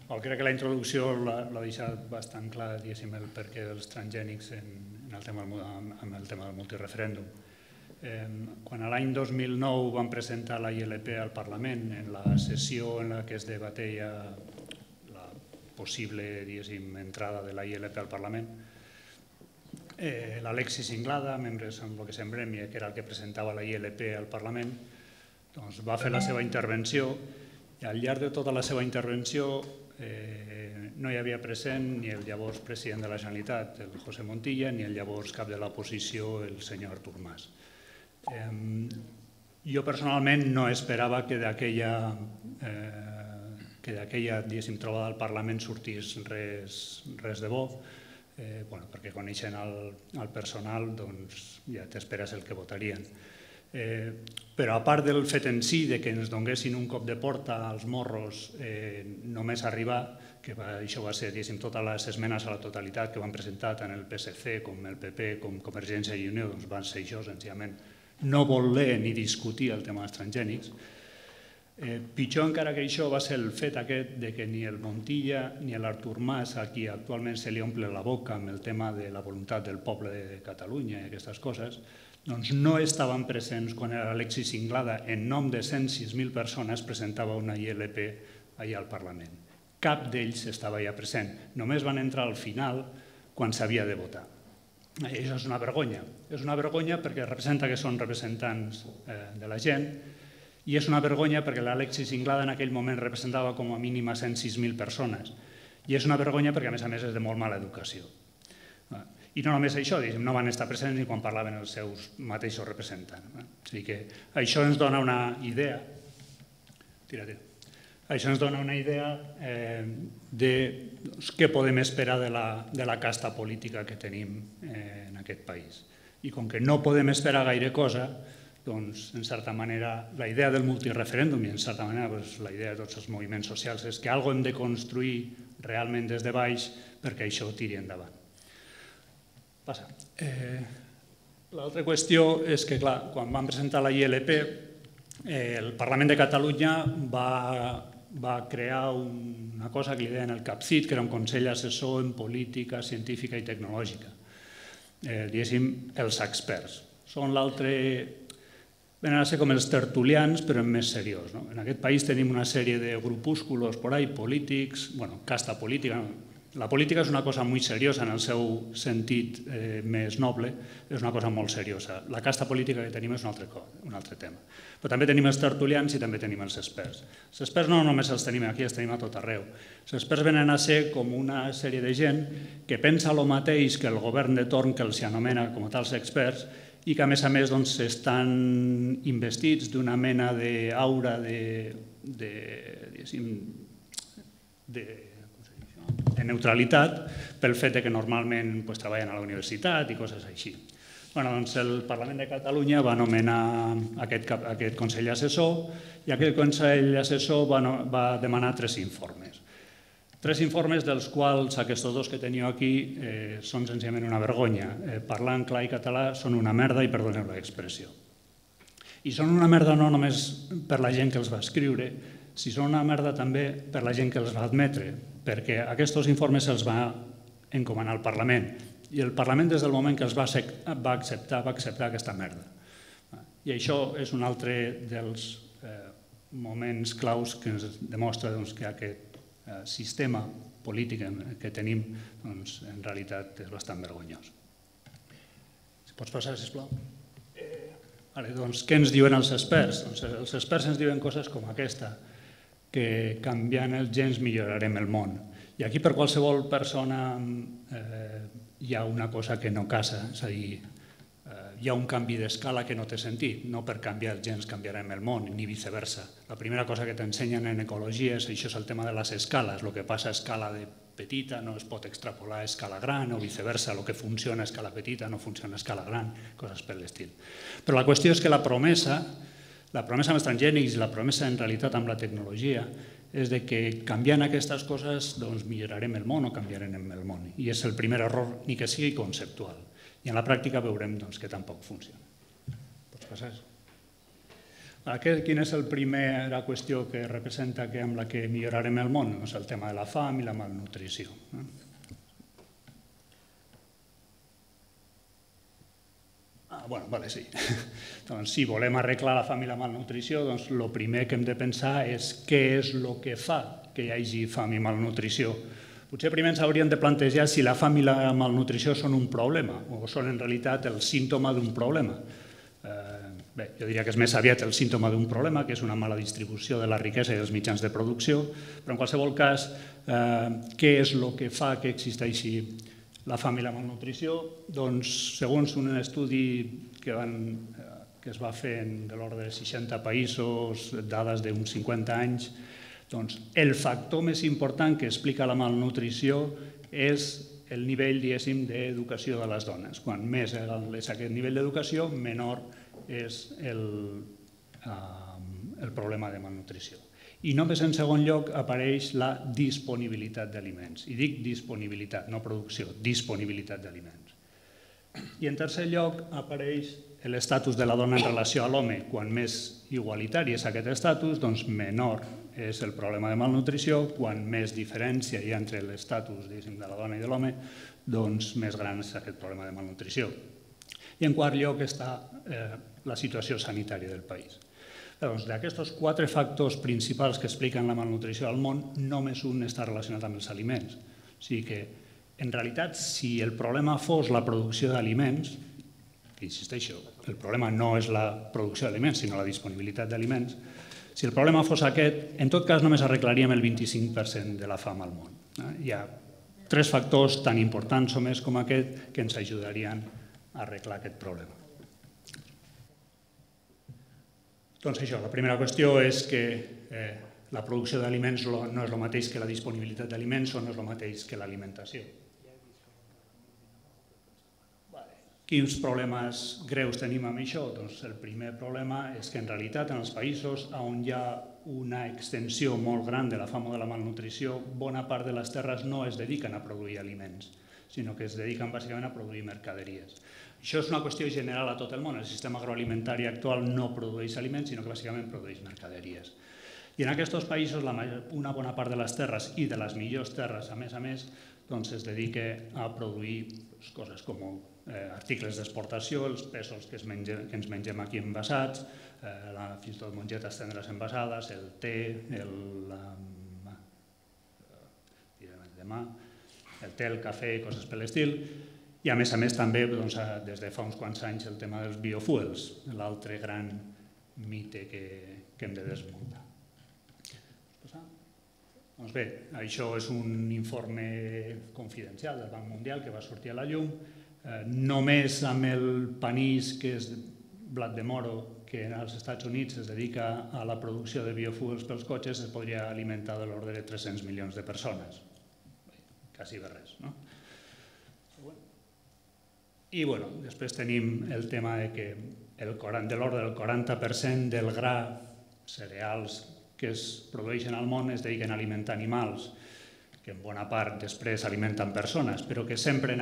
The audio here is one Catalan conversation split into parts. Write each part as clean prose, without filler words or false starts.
Crec que la introducció l'ha deixat bastant clar, diguéssim, el perquè dels transgènics amb el tema del multireferèndum. Quan a l'any 2009 vam presentar la ILP al Parlament, en la sessió en la que es debatia la possible, diguéssim, entrada de la ILP al Parlament, l'Alexis Inglada, membre amb el que semblem, que era el que presentava la ILP al Parlament, va fer la seva intervenció i al llarg de tota la seva intervenció no hi havia present ni el llavors president de la Generalitat, el José Montilla, ni el llavors cap de l'oposició, el senyor Artur Mas. Jo personalment no esperava que d'aquella trobada al Parlament sortís res de bo, perquè coneixent el personal ja t'esperes el que votarien. Però a part del fet en si que ens donessin un cop de porta als morros només arribar, que això va ser totes les esmenes a la totalitat que van presentar tant el PSC com el PP com Convergència i Unió, van ser això, senzillament no voler ni discutir el tema dels transgènics. Pitjor encara que això va ser el fet aquest que ni el Montilla ni l'Artur Mas, a qui actualment se li omple la boca amb el tema de la voluntat del poble de Catalunya i aquestes coses, doncs no estaven presents quan l'Alexis Inglada, en nom de 106.000 persones, presentava una ILP allà al Parlament. Cap d'ells estava allà present. Només van entrar al final quan s'havia de votar. Això és una vergonya. És una vergonya perquè representa que són representants de la gent i és una vergonya perquè l'Alexis Inglada en aquell moment representava com a mínim a 106.000 persones. I és una vergonya perquè, a més, és de molt mala educació. I no només això, no van estar presents ni quan parlaven els seus mateixos representants. O sigui que això ens dona una idea de què podem esperar de la casta política que tenim en aquest país. I com que no podem esperar gaire cosa, doncs, en certa manera, la idea del multireferèndum i, en certa manera, la idea de tots els moviments socials és que alguna cosa hem de construir realment des de baix perquè això tiri endavant. Passa. L'altra qüestió és que, clar, quan vam presentar la ILP, el Parlament de Catalunya va crear una cosa que li deien el CAPCIT, que era un Consell Assessor en Política Científica i Tecnològica. Diguéssim, els experts. Són l'altre... Venen a ser com els tertulians, però més seriós. En aquest país tenim una sèrie de grupúsculos polítics, casta política. La política és una cosa molt seriosa en el seu sentit més noble, és una cosa molt seriosa. La casta política que tenim és un altre tema. Però també tenim els tertulians i també tenim els experts. Els experts no només els tenim aquí, els tenim a tot arreu. Els experts venen a ser com una sèrie de gent que pensa el mateix que el govern de torn, que els anomena com a tals experts, i que, a més, estan investits d'una mena d'aura de neutralitat pel fet que normalment treballen a la universitat i coses així. El Parlament de Catalunya va anomenar aquest Consell Assessor i aquest Consell Assessor va demanar 3 informes. 3 informes dels quals aquests 2 que teniu aquí són senzillament una vergonya. Parlant clar i català són una merda i perdoneu l'expressió. I són una merda no només per la gent que els va escriure, sinó són una merda també per la gent que els va admetre, perquè aquests informes se'ls va encomanar al Parlament i el Parlament des del moment que els va acceptar aquesta merda. I això és un altre dels moments claus que ens demostra que aquest sistema polític que tenim en realitat és bastant vergonyós. Si pots passar, sisplau. Què ens diuen els experts? Els experts ens diuen coses com aquesta, que canviant els gens millorarem el món. I aquí per qualsevol persona hi ha una cosa que no casa, és a dir, hi ha un canvi d'escala que no té sentit. No per canviar els gens canviarem el món, ni viceversa. La primera cosa que t'ensenyen en ecologia és això, és el tema de les escales. El que passa a escala petita no es pot extrapolar a escala gran o viceversa. El que funciona a escala petita no funciona a escala gran, coses per l'estil. Però la qüestió és que la promesa amb els transgènics i la promesa en realitat amb la tecnologia és que canviant aquestes coses millorarem el món o canviarem el món. I és el primer error, ni que sigui conceptual. I en la pràctica veurem que tampoc funciona. Pots passar? Quina és la primera qüestió que representa amb la que millorarem el món? Doncs el tema de la fam i la malnutrició. Sí. Doncs si volem arreglar la fam i la malnutrició, doncs el primer que hem de pensar és què és el que fa que hi hagi fam i malnutrició. Potser primer ens hauríem de plantejar si la fam i la malnutrició són un problema o són en realitat el símptoma d'un problema. Bé, jo diria que és més aviat el símptoma d'un problema, que és una mala distribució de la riquesa i dels mitjans de producció, però en qualsevol cas, què és el que fa que existeixi la fam i la malnutrició? Doncs, segons un estudi que es va fer de l'ordre de 60 països, dades d'uns 50 anys, doncs el factor més important que explica la malnutrició és el nivell, diguéssim, d'educació de les dones. Quan més és aquest nivell d'educació, menor és el problema de malnutrició. I només en segon lloc apareix la disponibilitat d'aliments. I dic disponibilitat, no producció, disponibilitat d'aliments. I en tercer lloc apareix l'estatus de la dona en relació a l'home. Quan més igualitari és aquest estatus, doncs menor és el problema de malnutrició. Quan més diferència hi ha entre l'estatus de la dona i de l'home, doncs més gran és aquest problema de malnutrició. I en quart lloc està la situació sanitària del país. Doncs d'aquests 4 factors principals que expliquen la malnutrició al món, només un està relacionat amb els aliments. O sigui que, en realitat, si el problema fos la producció d'aliments, que insisteixo, el problema no és la producció d'aliments, sinó la disponibilitat d'aliments, si el problema fos aquest, en tot cas només arreglaríem el 25% de la fam al món. Hi ha 3 factors tan importants o més com aquest que ens ajudarien a arreglar aquest problema. Doncs això, la primera qüestió és que la producció d'aliments no és el mateix que la disponibilitat d'aliments o no és el mateix que l'alimentació. Quins problemes greus tenim amb això? Doncs el primer problema és que en realitat en els països on hi ha una extensió molt gran de la fam o de la malnutrició, bona part de les terres no es dediquen a produir aliments, sinó que es dediquen bàsicament a produir mercaderies. Això és una qüestió general a tot el món. El sistema agroalimentari actual no produeix aliments, sinó que bàsicament produeix mercaderies. I en aquests països, una bona part de les terres i de les millors terres, a més, es dedica a produir coses com articles d'exportació, els pèsols que ens mengem aquí envasats, fins i tot mongetes tendres envasades, el té, el cafè i coses per l'estil. I a més també, des de fa uns quants anys, el tema dels biofuels, l'altre gran mite que hem de desmuntar. Doncs bé, això és un informe confidencial del Banc Mundial que va sortir a la llum. Només amb el panís, que és blat de moro, que als Estats Units es dedica a la producció de biofuels pels cotxes, es podria alimentar de l'ordre de 300 milions de persones. Quasi de res, no? I després tenim el tema que de l'ordre del 40% del gra, cereals que es produeixen al món es dediquen a alimentar animals, que en bona part després alimenten persones, però que sempre en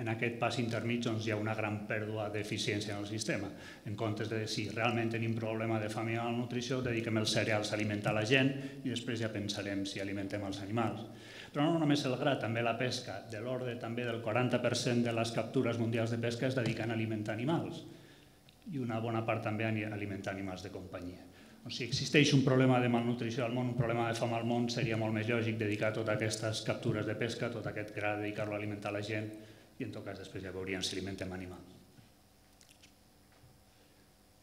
aquest pas intermig hi ha una gran pèrdua d'eficiència en el sistema. En comptes de si realment tenim problema de fam i malnutrició, dediquem els cereals a alimentar la gent i després ja pensarem si alimentem els animals. Però no només el gra, també la pesca, de l'ordre també del 40% de les captures mundials de pesca es dediquen a alimentar animals i una bona part també a alimentar animals de companyia. Si existeix un problema de malnutrició al món, un problema de fam al món, seria molt més lògic dedicar totes aquestes captures de pesca, tot aquest gra, dedicar-lo a alimentar la gent i en tot cas després ja veuríem si alimentem animals.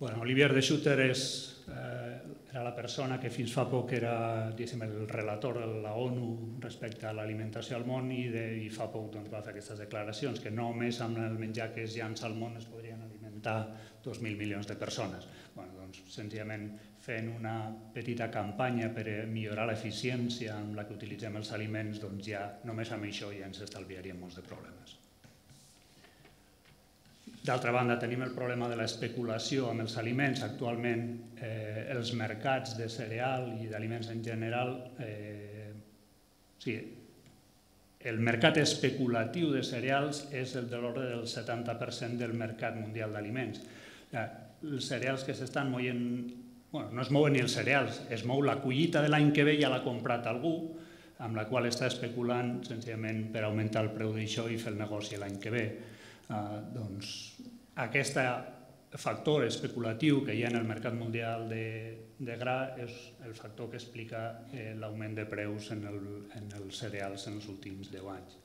Olivier de Schutter era la persona que fins fa poc era el relator de la ONU respecte a l'alimentació al món i fa poc va fer aquestes declaracions que només amb el menjar que es llança al món es podrien alimentar 2.000 milions de persones. Senzillament fent una petita campanya per millorar l'eficiència amb la que utilitzem els aliments, doncs ja només amb això ja ens estalviaríem molts de problemes. D'altra banda, tenim el problema de l'especulació amb els aliments. Actualment, els mercats de cereal i d'aliments en general, el mercat especulatiu de cereals és el de l'ordre del 70% del mercat mundial d'aliments. Els cereals que s'estan moient no es mouen ni els cereals, es mou la collita de l'any que ve, ja l'ha comprat algú, amb la qual està especulant senzillament per augmentar el preu d'això i fer el negoci l'any que ve. Doncs aquest factor especulatiu que hi ha en el mercat mundial de gra és el factor que explica l'augment de preus en els cereals en els últims 10 anys.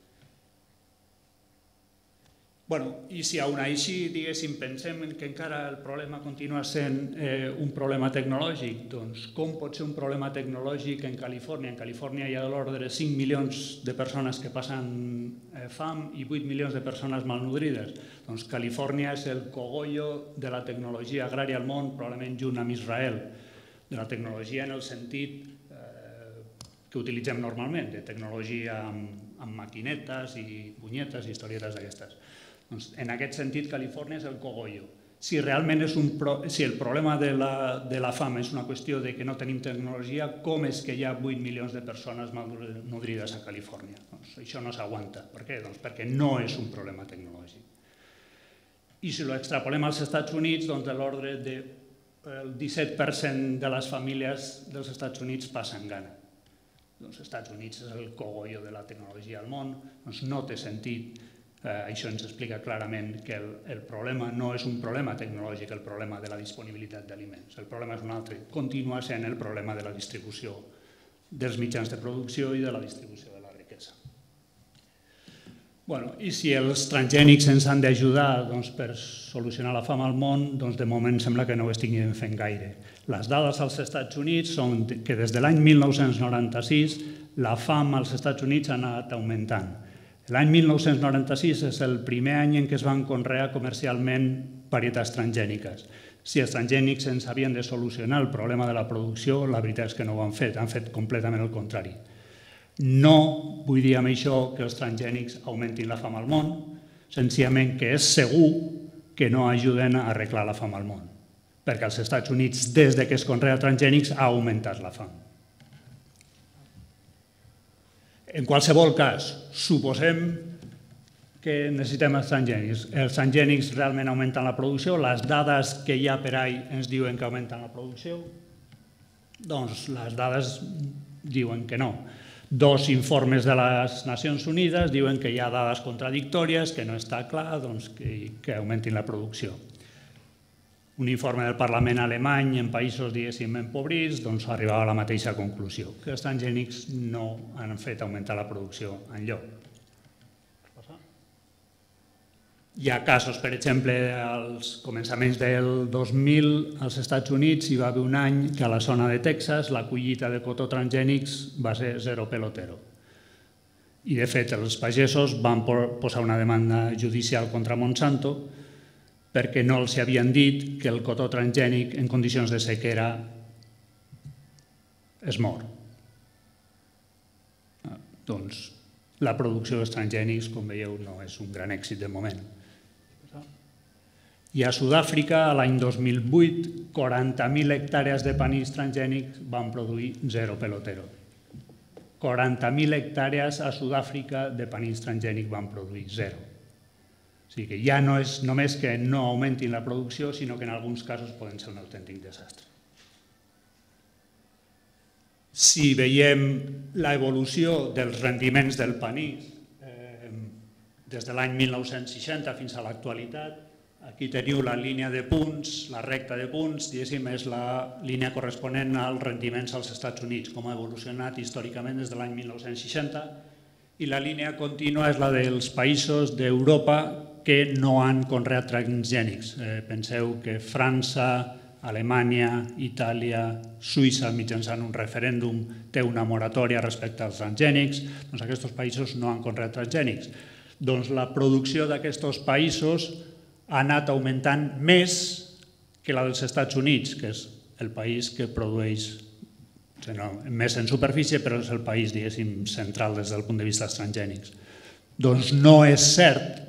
I si aún així, diguéssim, pensem que encara el problema continua sent un problema tecnològic, doncs com pot ser un problema tecnològic en Califòrnia? En Califòrnia hi ha de l'ordre de 5 milions de persones que passen fam i 8 milions de persones malnodrides. Doncs Califòrnia és el cogollo de la tecnologia agrària al món, probablement junt amb Israel, de la tecnologia en el sentit que utilitzem normalment, de tecnologia amb maquinetes i punyetes i historietes d'aquestes. En aquest sentit, Califòrnia és el cogollo. Si realment si el problema de la fam és una qüestió de que no tenim tecnologia, com és que hi ha 8 milions de persones malnodrides a Califòrnia? Això no s'aguanta. Per què? Perquè no és un problema tecnològic. I si ho extrapolem als Estats Units, doncs de l'ordre del 17% de les famílies dels Estats Units passen gana. Els Estats Units és el cogollo de la tecnologia al món, doncs no té sentit. Això ens explica clarament que el problema no és un problema tecnològic, el problema de la disponibilitat d'aliments. El problema és un altre. Continua sent el problema de la distribució dels mitjans de producció i de la distribució de la riquesa. I si els transgènics ens han d'ajudar per solucionar la fam al món, doncs de moment sembla que no ho estiguin fent gaire. Les dades als Estats Units són que des de l'any 1996 la fam als Estats Units ha anat augmentant. L'any 1996 és el primer any en què es van conrear comercialment varietats transgèniques. Si els transgènics ens havien de solucionar el problema de la producció, la veritat és que no ho han fet completament el contrari. No vull dir amb això que els transgènics augmentin la fam al món, senzillament que és segur que no ajuden a arreglar la fam al món, perquè als Estats Units, des que es conrea transgènics, ha augmentat la fam. En qualsevol cas, suposem que necessitem els transgènics. Els transgènics realment augmenten la producció, les dades que hi ha per ahí ens diuen que augmenten la producció, doncs les dades diuen que no. 2 informes de les Nacions Unides diuen que hi ha dades contradictòries, que no està clar que augmentin la producció. Un informe del Parlament alemany en països, diguéssim, empobrits, doncs arribava a la mateixa conclusió, que els transgènics no han fet augmentar la producció enlloc. Hi ha casos, per exemple, als començaments del 2000 als Estats Units hi va haver un any que a la zona de Texas la collita de cotó transgènics va ser 0 pelotero. I, de fet, els pagesos van posar una demanda judicial contra Monsanto perquè no els havien dit que el cotó transgènic en condicions de sequera es mor. Doncs la producció dels transgènics, com veieu, no és un gran èxit de moment. I a Sud-àfrica, l'any 2008, 40.000 hectàrees de panís transgènics van produir 0 pelotero. 40.000 hectàrees a Sud-àfrica de panís transgènic van produir 0. O sigui que ja no és només que no augmentin la producció, sinó que en alguns casos poden ser un autèntic desastre. Si veiem l'evolució dels rendiments del panís des de l'any 1960 fins a l'actualitat, aquí teniu la línia de punts, la recta de punts, diguéssim, és la línia corresponent als rendiments als Estats Units, com ha evolucionat històricament des de l'any 1960, i la línia contínua és la dels països d'Europa que no han conreat transgènics. Penseu que França, Alemanya, Itàlia, Suïssa, mitjançant un referèndum, té una moratòria respecte als transgènics. Doncs aquests països no han conreat transgènics. Doncs la producció d'aquests països ha anat augmentant més que la dels Estats Units, que és el país que produeix més en superfície, però és el país, diguéssim, central des del punt de vista dels transgènics. Doncs no és cert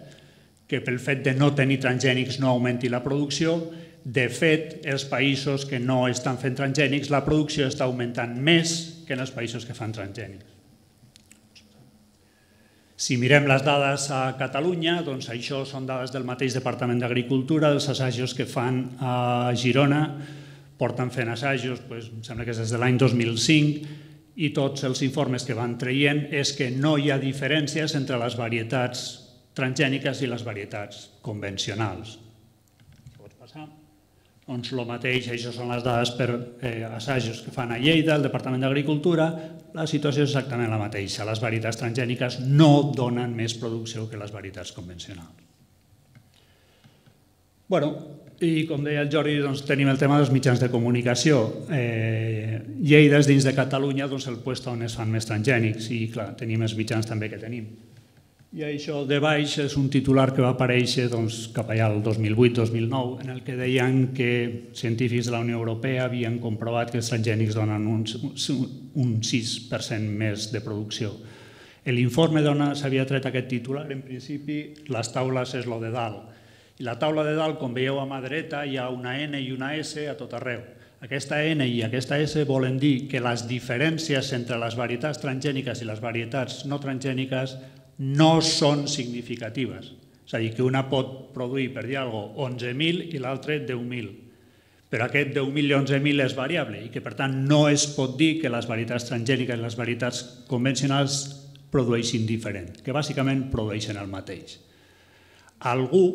que pel fet de no tenir transgènics no augmenti la producció. De fet, els països que no estan fent transgènics, la producció està augmentant més que en els països que fan transgènics. Si mirem les dades a Catalunya, doncs això són dades del mateix Departament d'Agricultura, dels assajos que fan a Girona porten fent assajos, em sembla que és des de l'any 2005, i tots els informes que van traient és que no hi ha diferències entre les varietats transgèniques i les varietats convencionals. Pots passar? Doncs el mateix, això són les dades per assajos que fan a Lleida, el Departament d'Agricultura, la situació és exactament la mateixa. Les varietats transgèniques no donen més producció que les varietats convencionals. Bueno, i com deia el Jordi, tenim el tema dels mitjans de comunicació. Lleida és dins de Catalunya el lloc on es fan més transgènics i, clar, tenim els mitjans també que tenim. I això de baix és un titular que va aparèixer cap allà el 2008-2009 en el que deien que científics de la Unió Europea havien comprovat que els transgènics donen un 6% més de producció. L'informe d'on s'havia tret aquest titular, en principi, les taules és el de dalt. I la taula de dalt, com veieu a mà dreta, hi ha una N i una S a tot arreu. Aquesta N i aquesta S volen dir que les diferències entre les varietats transgèniques i les varietats no transgèniques no són significatives. És a dir, que una pot produir, per dir alguna cosa, 11.000 i l'altra 10.000. Però aquest 10.000 i 11.000 és variable i que, per tant, no es pot dir que les varietats transgèniques i les varietats convencionals produeixin diferent, que bàsicament produeixen el mateix. Algú,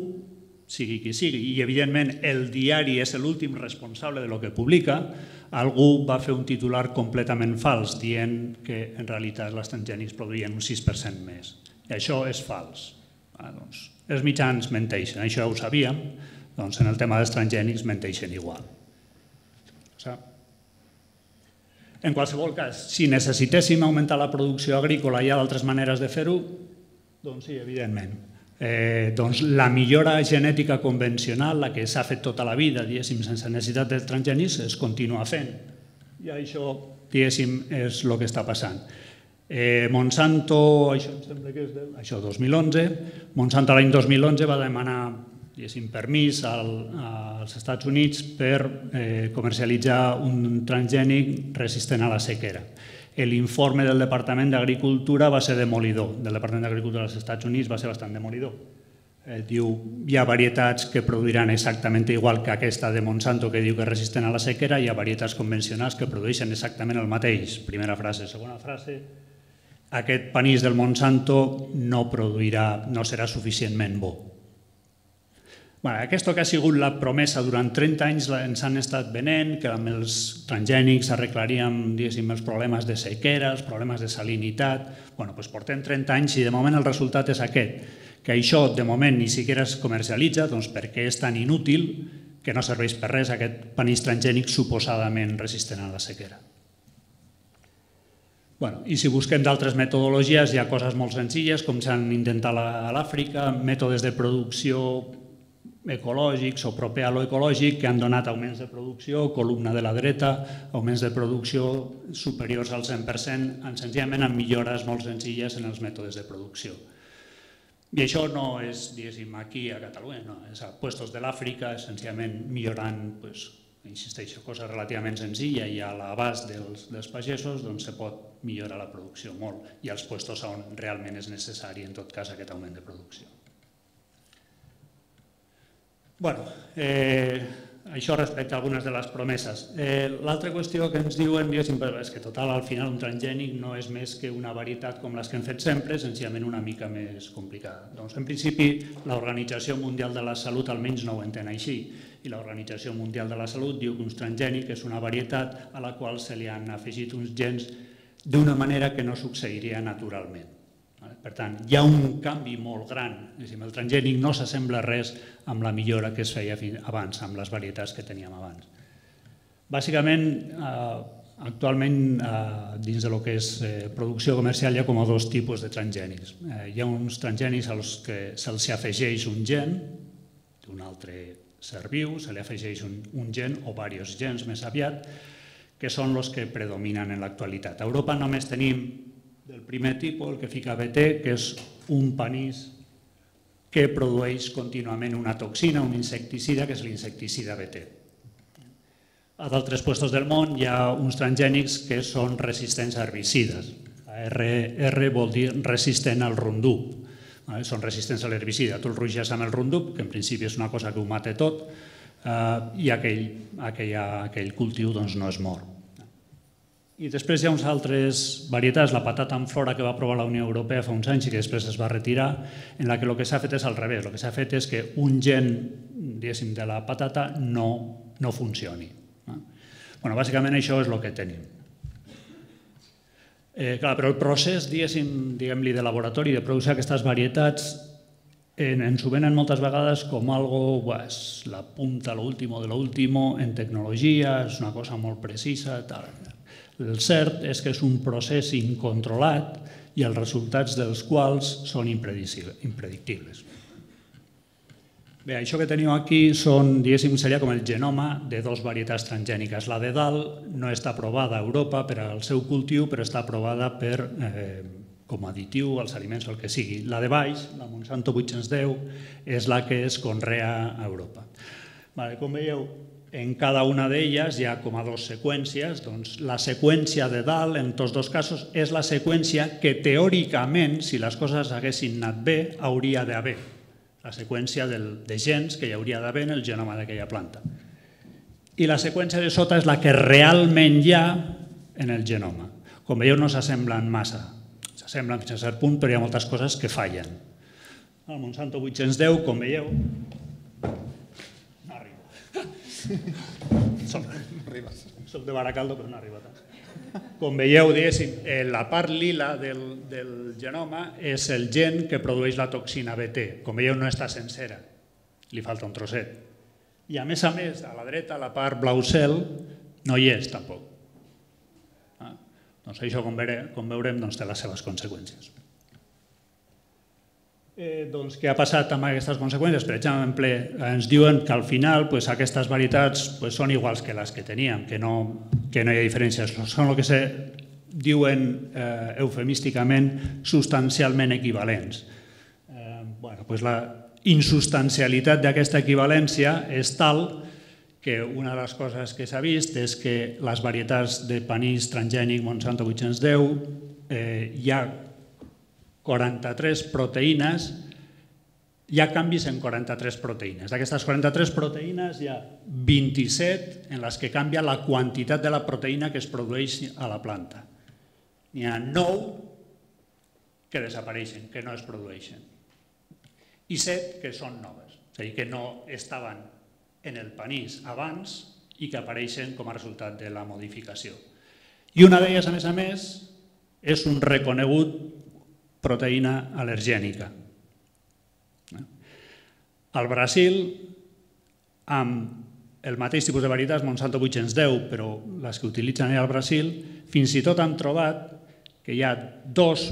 sigui qui sigui, i evidentment el diari és l'últim responsable de lo que publica, algú va fer un titular completament fals dient que en realitat els transgènics produïen un 6% més. I això és fals. Els mitjans menteixen, això ja ho sabíem, doncs en el tema dels transgènics menteixen igual. En qualsevol cas, si necessitéssim augmentar la producció agrícola i hi ha d'altres maneres de fer-ho, doncs sí, evidentment. La millora genètica convencional, la que s'ha fet tota la vida, diguéssim, sense necessitat de transgènics, es continua fent. I això, diguéssim, és el que està passant. Monsanto, això em sembla que és això 2011, Monsanto l'any 2011 va demanar, diguéssim, permís als Estats Units per comercialitzar un transgènic resistent a la sequera. L'informe del Departament d'Agricultura va ser demolidor, del Departament d'Agricultura dels Estats Units va ser bastant demolidor. Diu, hi ha varietats que produiran exactament igual que aquesta de Monsanto que diu que és resistent a la sequera, hi ha varietats convencionals que produeixen exactament el mateix. Primera frase. Segona frase, aquest panís del Monsanto no serà suficientment bo. Aquesta que ha sigut la promesa durant 30 anys ens han estat venent, que amb els transgènics arreglaríem els problemes de sequera, els problemes de salinitat. Doncs portem 30 anys i de moment el resultat és aquest, que això de moment ni siquiera es comercialitza perquè és tan inútil que no serveix per res aquest panís transgènic suposadament resistent a la sequera. I si busquem d'altres metodologies hi ha coses molt senzilles com s'han intentat a l'Àfrica, mètodes de producció ecològics o proper a lo ecològic que han donat augments de producció, columna de la dreta, augments de producció superiors al 100%, senzillament amb millores molt senzilles en els mètodes de producció. I això no és, diguéssim, aquí a Catalunya, no, és a puestos de l'Àfrica, senzillament millorant, insisteixo, cosa relativament senzilla i a l'abast dels pagesos, doncs se pot millorar la producció molt i als puestos on realment és necessari, en tot cas, aquest augment de producció. Això respecte a algunes de les promeses. L'altra qüestió que ens diuen és que total, al final un transgènic no és més que una varietat com les que hem fet sempre, senzillament una mica més complicada. Doncs en principi l'Organització Mundial de la Salut almenys no ho entén així i l'Organització Mundial de la Salut diu que un transgènic és una varietat a la qual se li han afegit uns gens d'una manera que no succeiria naturalment. Per tant, hi ha un canvi molt gran. El transgènic no s'assembla res amb la millora que es feia abans, amb les varietats que teníem abans. Bàsicament, actualment, dins del que és producció comercial, hi ha com a dos tipus de transgènics. Hi ha uns transgènics als que se'ls afegeix un gen, d'un altre ser viu, se li afegeix un gen o diversos gens més aviat, que són els que predominen en l'actualitat. A Europa només tenim del primer tipus, el que fica BT, que és un panís que produeix contínuament una toxina, un insecticida, que és l'insecticida BT. A d'altres llocs del món hi ha uns transgènics que són resistents a herbicides. R vol dir resistent al Roundup. Són resistents a l'herbicida. Tu el ruixes amb el Roundup, que en principi és una cosa que ho mata tot, i aquell cultiu no es mor. I després hi ha unes altres varietats, la patata amb flora que va aprovar la Unió Europea fa uns anys i que després es va retirar, en la que el que s'ha fet és al revés. El que s'ha fet és que un gen, diguéssim, de la patata no funcioni. Bàsicament això és el que tenim. Però el procés, diguem-li, de laboratori de producció d'aquestes varietats ens ho venen moltes vegades com algo, la punta, l'último de l'último en tecnologia, és una cosa molt precisa, tal. El cert és que és un procés incontrolat i els resultats dels quals són impredictibles. Bé, això que teniu aquí seria com el genoma de dues varietats transgèniques. La de dalt no està aprovada a Europa per al seu cultiu, però està aprovada com a additiu als aliments o el que sigui. La de baix, la Monsanto 810, és la que es conrea a Europa. Com veieu, en cada una d'elles hi ha com a dues seqüències. La seqüència de dalt, en tots dos casos, és la seqüència que teòricament, si les coses haguessin anat bé, hauria d'haver. La seqüència de gens que hi hauria d'haver en el genoma d'aquella planta. I la seqüència de sota és la que realment hi ha en el genoma. Com veieu, no s'assemblen massa. S'assemblen fins a cert punt, però hi ha moltes coses que fallen. El Monsanto 810, com veieu, no arriba. Soc de Baracaldo, però no arriba tant. Com veieu, la part lila del genoma és el gen que produeix la toxina BT. Com veieu, no està sencera, li falta un trosset. I a més, a la dreta, la part blau cel, no hi és tampoc. Doncs això, com veurem, té les seves conseqüències. Què ha passat amb aquestes conseqüències? Per exemple, ens diuen que al final aquestes varietats són iguals que les que teníem, que no hi ha diferències. Són el que se diuen eufemísticament substancialment equivalents. La insubstancialitat d'aquesta equivalència és tal que una de les coses que s'ha vist és que les varietats de panís transgènic Monsanto 810 hi ha 43 proteïnes, hi ha canvis en 43 proteïnes. D'aquestes 43 proteïnes hi ha 27 en les que canvia la quantitat de la proteïna que es produeix a la planta. N'hi ha 9 que desapareixen, que no es produeixen. I 7 que són noves, és a dir, que no estaven en el panís abans i que apareixen com a resultat de la modificació. I una d'elles, a més, és un reconegut proteïna al·lergènica. Al Brasil, amb el mateix tipus de varietats, Monsanto 810, però les que utilitzen al Brasil, fins i tot han trobat que hi ha dues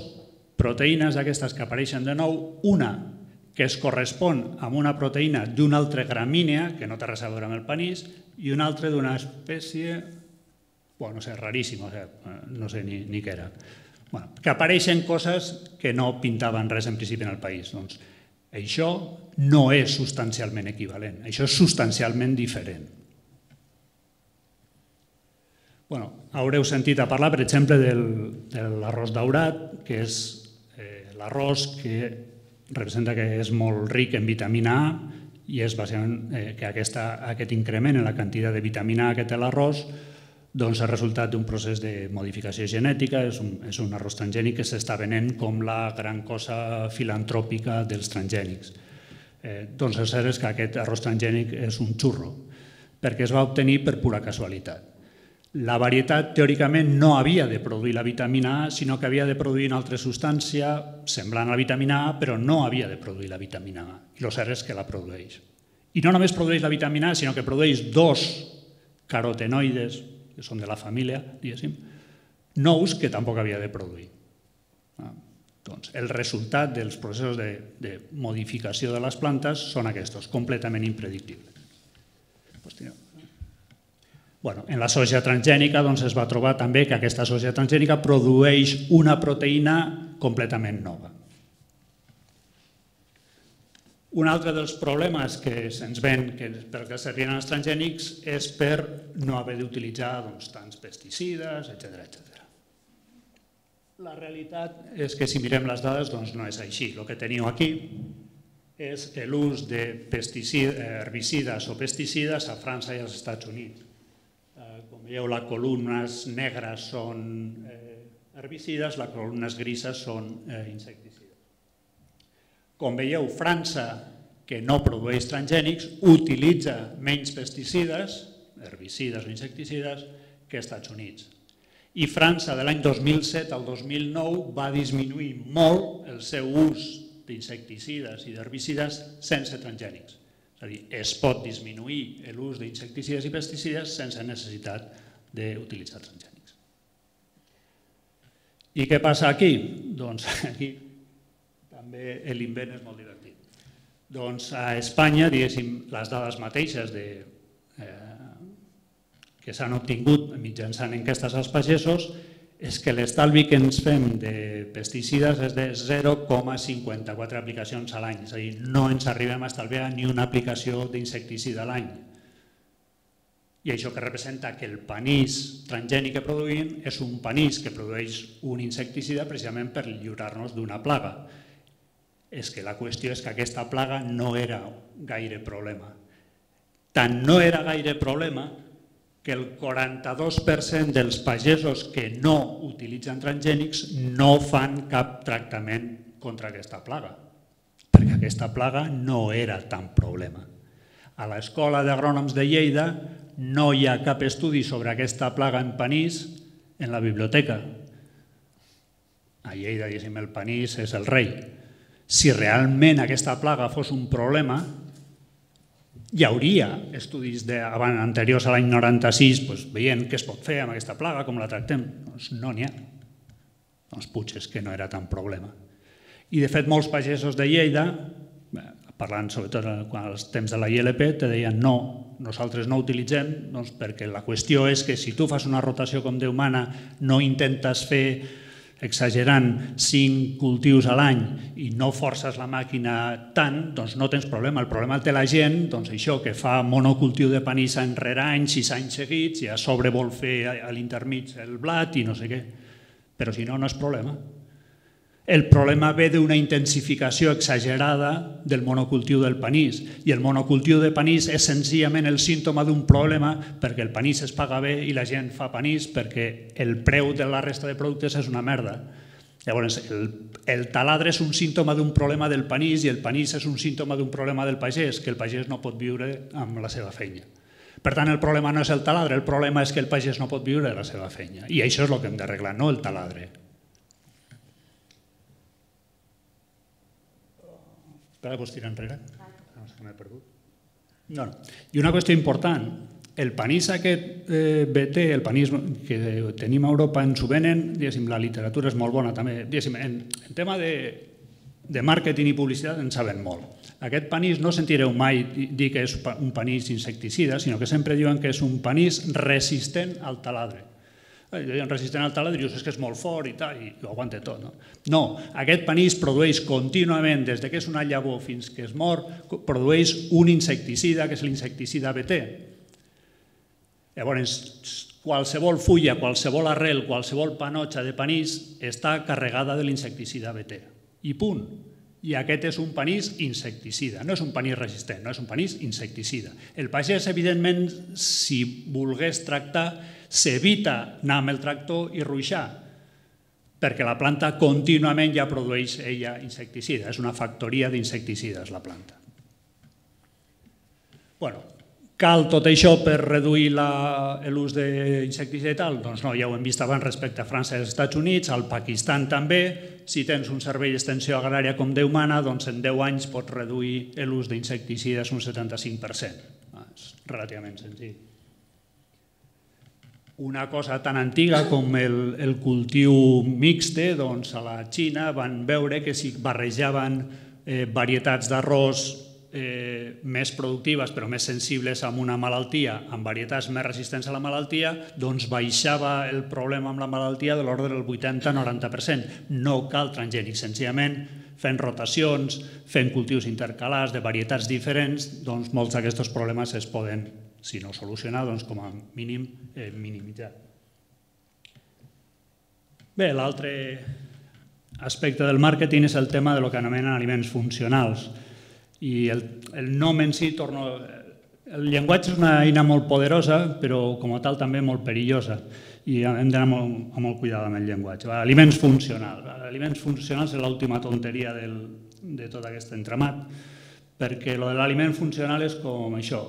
proteïnes d'aquestes que apareixen de nou, una que es correspon amb una proteïna d'una altra gramínea, que no té res a veure amb el panís, i una altra d'una espècie, no sé, raríssima, no sé ni què era. Que apareixen coses que no pintaven res en principi en el país. Doncs això no és substancialment equivalent, això és substancialment diferent. Haureu sentit a parlar, per exemple, de l'arròs daurat, que és l'arròs que representa que és molt ric en vitamina A i és bàsicament que aquest increment en la quantitat de vitamina A que té l'arròs és el resultat d'un procés de modificació genètica, és un arròs transgènic que s'està venent com la gran cosa filantròpica dels transgènics. Doncs el cert és que aquest arròs transgènic és un xurro, perquè es va obtenir per pura casualitat. La varietat, teòricament, no havia de produir la vitamina A, sinó que havia de produir una altra substància semblant a la vitamina A, però no havia de produir la vitamina A. I el cert és que la produeix. I no només produeix la vitamina A, sinó que produeix dos carotenoides, que són de la família, diguéssim, nous que tampoc havia de produir. Doncs el resultat dels processos de modificació de les plantes són aquests, completament impredictibles. En la soja transgènica es va trobar també que aquesta soja transgènica produeix una proteïna completament nova. Un altre dels problemes que se'ns ven perquè servien els transgènics és per no haver d'utilitzar tants pesticides, etc. La realitat és que si mirem les dades no és així. El que teniu aquí és l'ús de herbicides o pesticides a França i als Estats Units. Com veieu, les columnes negres són herbicides, les columnes grises són insecticides. Com veieu, França, que no produeix transgènics, utilitza menys pesticides, herbicides o insecticides, que als Estats Units. I França, de l'any 2007 al 2009, va disminuir molt el seu ús d'insecticides i d'herbicides sense transgènics. És a dir, es pot disminuir l'ús d'insecticides i pesticides sense necessitat d'utilitzar transgènics. I què passa aquí? Doncs aquí també l'invent és molt divertit. Doncs a Espanya, diguéssim, les dades mateixes que s'han obtingut mitjançant enquestes als pagesos és que l'estalvi que ens fem de pesticides és de 0,54 aplicacions a l'any. És a dir, no ens arribem a estalviar ni una aplicació d'insecticida a l'any. I això que representa que el panís transgènic que produïm és un panís que produeix un insecticida precisament per lliurar-nos d'una plaga. És que la qüestió és que aquesta plaga no era gaire problema. Tant no era gaire problema que el 42% dels pagesos que no utilitzen transgènics no fan cap tractament contra aquesta plaga, perquè aquesta plaga no era tan problema. A l'Escola d'Agrònoms de Lleida no hi ha cap estudi sobre aquesta plaga en panís en la biblioteca. A Lleida, diguéssim, el panís és el rei. Si realment aquesta plaga fos un problema, hi hauria estudis anteriors a l'any 96 veient què es pot fer amb aquesta plaga, com la tractem. Doncs no n'hi ha. Doncs potser és que no era tan problema. I de fet molts pagesos de Lleida, parlant sobretot als temps de la ILP, te deien no, nosaltres no utilitzem perquè la qüestió és que si tu fas una rotació com Déu mana, no intentes fer exagerant 5 cultius a l'any i no forces la màquina tant, doncs no tens problema. El problema el té la gent, doncs això, que fa monocultiu de panís any rere any, 6 anys seguits, i a sobre vol fer a l'intermig el blat i no sé què. Però si no, no és problema. El problema ve d'una intensificació exagerada del monocultiu del panís, i el monocultiu de panís és senzillament el símptoma d'un problema perquè el panís es paga bé i la gent fa panís perquè el preu de la resta de productes és una merda. Llavors, el taladre és un símptoma d'un problema del panís i el panís és un símptoma d'un problema del pagès, que el pagès no pot viure amb la seva feina. Per tant, el problema no és el taladre, el problema és que el pagès no pot viure de la seva feina. I això és el que hem d'arreglar, no el taladre. Espera, pots tirar enrere? No sé que m'he perdut. No. I una qüestió important, el panís aquest BT, el panís que tenim a Europa, ens ho venen, la literatura és molt bona també, en tema de màrqueting i publicitat en saben molt. Aquest panís no sentireu mai dir que és un panís insecticida, sinó que sempre diuen que és un panís resistent al taladre. Resistent al taladre, dius que és molt fort i tal, i ho aguanta tot. No, aquest panís produeix contínuament, des que és una llavor fins que es mor, produeix un insecticida, que és l'insecticida BT. Llavors, qualsevol fulla, qualsevol arrel, qualsevol panotxa de panís està carregada de l'insecticida BT. I punt. I aquest és un panís insecticida, no és un panís resistent, no és un panís insecticida. El pagès, evidentment, si volgués tractar, s'evita anar amb el tractor i ruixar, perquè la planta contínuament ja produeix ella insecticida. És una factoria d'insecticides, la planta. Cal tot això per reduir l'ús d'insecticida i tal? Doncs no, ja ho hem vist abans respecte a França i als Estats Units, al Pakistan també. Si tens un servei d'extensió agrària com Déu mana, doncs en 10 anys pots reduir l'ús d'insecticides un 75%. És relativament senzill. Una cosa tan antiga com el cultiu mixte, doncs a la Xina van veure que si barrejaven varietats d'arròs més productives però més sensibles a una malaltia amb varietats més resistents a la malaltia, doncs baixava el problema amb la malaltia de l'ordre del 80-90%. No cal transgènic, senzillament fent rotacions, fent cultius intercalars de varietats diferents, doncs molts d'aquests problemes es poden, si no solucionar, doncs com a mínim minimitzar. Bé, l'altre aspecte del màrqueting és el tema del que anomenen aliments funcionals. I el nom en si torna... El llenguatge és una eina molt poderosa, però com a tal també molt perillosa. I hem d'anar amb molt cuidado amb el llenguatge. Aliments funcionals. Aliments funcionals és l'última tonteria de tot aquest entramat, perquè el de l'aliment funcional és com això,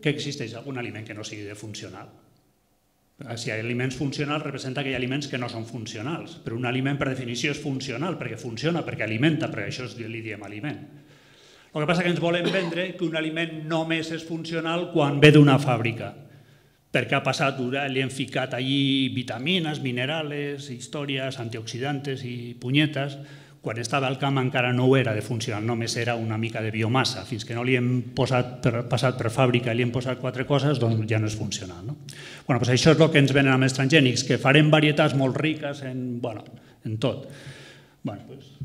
que existeix algun aliment que no sigui de funcional. Si hi ha aliments funcionals representa que hi ha aliments que no són funcionals, però un aliment per definició és funcional, perquè funciona, perquè alimenta, perquè això li diem aliment. El que passa és que ens volem vendre que un aliment només és funcional quan ve d'una fàbrica, perquè ha passat, li hem ficat allí vitamines, minerals, històries, antioxidantes i punyetes. Quan estava al camp encara no ho era de funcional, només era una mica de biomassa. Fins que no li hem passat per fàbrica i li hem posat 4 coses, doncs ja no és funcional. Això és el que ens venen amb els transgènics, que farem varietats molt riques en tot.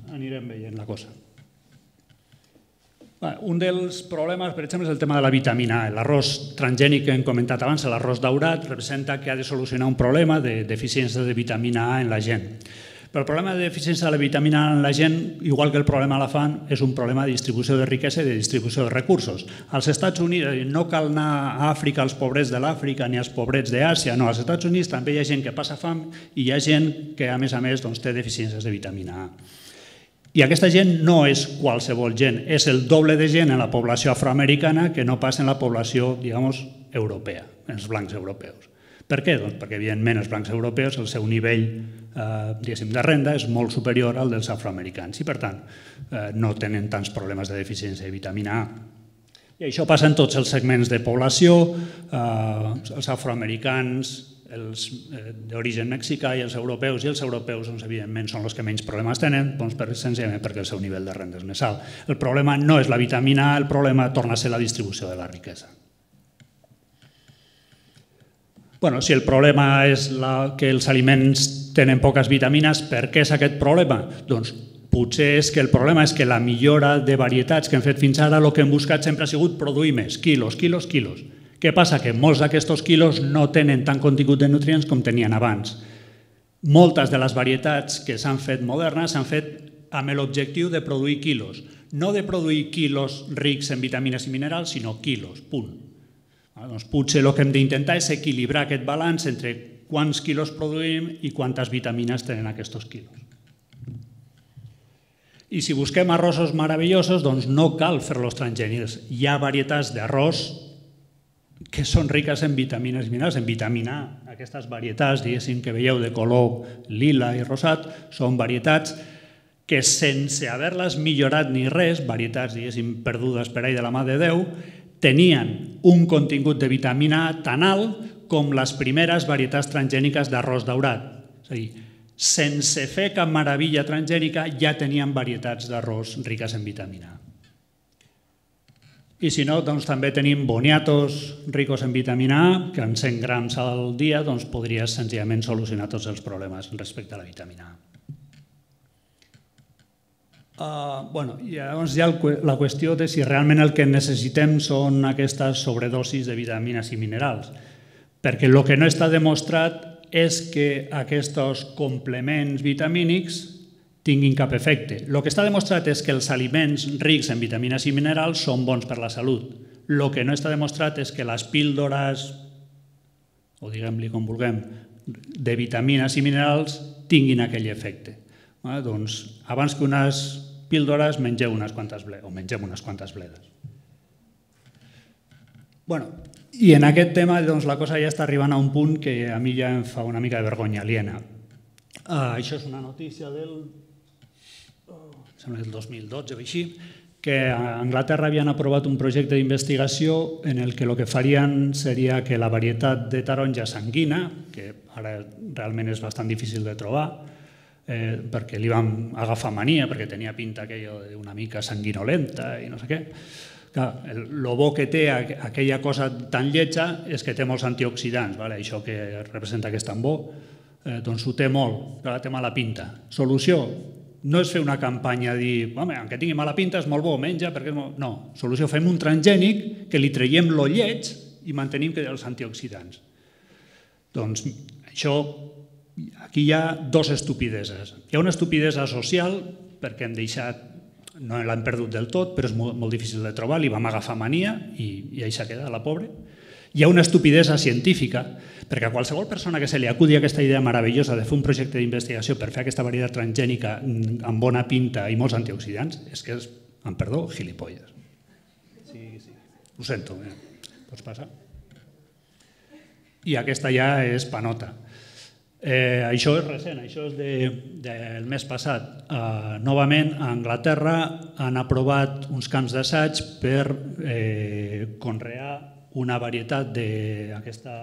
Anirem veient la cosa. Un dels problemes, per exemple, és el tema de la vitamina A. L'arròs transgènic que hem comentat abans, l'arròs daurat, representa que ha de solucionar un problema de deficiència de vitamina A en la gent. Però el problema de deficiència de la vitamina A en la gent, igual que el problema de la fam, és un problema de distribució de riquesa i de distribució de recursos. Als Estats Units no cal anar a Àfrica als pobrets de l'Àfrica ni als pobrets d'Àsia, no, als Estats Units també hi ha gent que passa fam i hi ha gent que, a més, té deficiències de vitamina A. I aquesta gent no és qualsevol gent, és el doble de gent en la població afroamericana que no passa en la població, diguem-ne, europea, en els blancs europeus. Per què? Doncs perquè, evidentment, els blancs europeus, el seu nivell de renda és molt superior al dels afroamericans i, per tant, no tenen tants problemes de deficiència de vitamina A. I això passa en tots els segments de població, els afroamericans, els d'origen mexicà i els europeus, evidentment, són els que menys problemes tenen, senzillament perquè el seu nivell de renda és més alt. El problema no és la vitamina A, el problema torna a ser la distribució de la riquesa. Si el problema és que els aliments tenen poques vitamines, per què és aquest problema? Doncs potser és que el problema és que la millora de varietats que hem fet fins ara, el que hem buscat sempre ha sigut produir més, quilos. Què passa? Que molts d'aquests quilos no tenen tant contingut de nutrients com tenien abans. Moltes de les varietats que s'han fet modernes s'han fet amb l'objectiu de produir quilos. No de produir quilos rics en vitamines i minerals, sinó quilos, punt. Potser el que hem d'intentar és equilibrar aquest balanç entre quants quilos produïm i quantes vitamines tenen aquests quilos. I si busquem arrossos meravellosos, doncs no cal fer-los transgènics. Hi ha varietats d'arròs que són riques en vitamines i minerals, en vitamina A. Aquestes varietats, diguéssim, que veieu de color lila i rosat, són varietats que sense haver-les millorat ni res, varietats, diguéssim, perdudes per ahí de la mà de Déu, tenien un contingut de vitamina A tan alt com les primeres varietats transgèniques d'arròs daurat. És a dir, sense fer cap meravella transgènica ja tenien varietats d'arròs riques en vitamina A. I si no, doncs també tenim boniatos ricos en vitamina A, que en 100 grams al dia podries senzillament solucionar tots els problemes respecte a la vitamina A. Llavors hi ha la qüestió de si realment el que necessitem són aquestes sobredosis de vitamines i minerals, perquè el que no està demostrat és que aquests complements vitamínics tinguin cap efecte. El que està demostrat és que els aliments rics en vitamines i minerals són bons per la salut. El que no està demostrat és que les píldores, o diguem-li com vulguem, de vitamines i minerals tinguin aquell efecte. Doncs abans que unes píldores mengeu unes quantes bledes, o mengem unes quantes bledes. I en aquest tema la cosa ja està arribant a un punt que a mi ja em fa una mica de vergonya aliena. Això és una notícia del 2012 o així, que a Anglaterra havien aprovat un projecte d'investigació en el que farien seria que la varietat de taronja sanguina, que ara realment és bastant difícil de trobar, perquè li vam agafar mania, perquè tenia pinta aquella d'una mica sanguinolenta i no sé què. El bo que té aquella cosa tan lletja és que té molts antioxidants, això que representa que és tan bo, doncs ho té molt, però té mala pinta. Solució? No és fer una campanya dir, que tingui mala pinta és molt bo, menja, perquè és molt... No, solució, fem un transgènic que li traiem lo lleig i mantenim els antioxidants. Doncs això... Aquí hi ha dues estupideses. Hi ha una estupidesa social, perquè hem deixat no l'han perdut del tot, però és molt difícil de trobar, li vam agafar mania i ahí s'ha quedat, la pobra. Hi ha una estupidesa científica, perquè a qualsevol persona que se li acudi aquesta idea meravellosa de fer un projecte d'investigació per fer aquesta varietat transgènica amb bona pinta i molts antioxidants, és que és, amb perdó, gilipolles. Sí. Ho sento, pots passar? I aquesta ja és panota. Això és recent, això és del mes passat. Novament, a Anglaterra han aprovat uns camps d'assaig per conrear una varietat d'aquesta